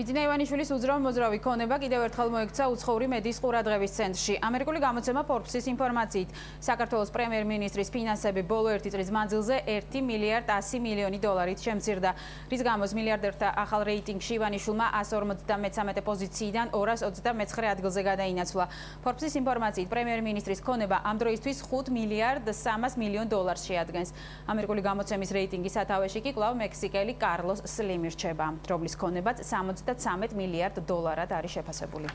ბიძინა ივანიშვილის უძრავ-მოძრავი ქონება კიდევ ერთხელ მოექცა უცხოური მედიის ყურადღების ცენტრში. ამერიკული გამოცემა Forbes-ის ინფორმაციით, საქართველოს პრემიერ-მინისტრის ფინანსები ბოლო 1 წლის მანძილზე 1 მილიარდ 100 მილიონი დოლარით შემცირდა, რის გამოც მილიარდერთა ახალ რეიტინგში ივანიშვილმა 153 პოზიციიდან 229 ადგილზე გადაინაცვლა. Forbes-ის ინფორმაციით, პრემიერ-მინისტრის ქონება ამ დროისთვის 5 მილიარდ 300 მილიონ დოლარს შეადგენს. ამერიკული გამოცემის რეიტინგის სათავეში კი კვლავ მექსიკელი კარლოს სლიმი რჩება, რომლის ქონებაც 73 მილიარდ დოლარად არის შეფასებული.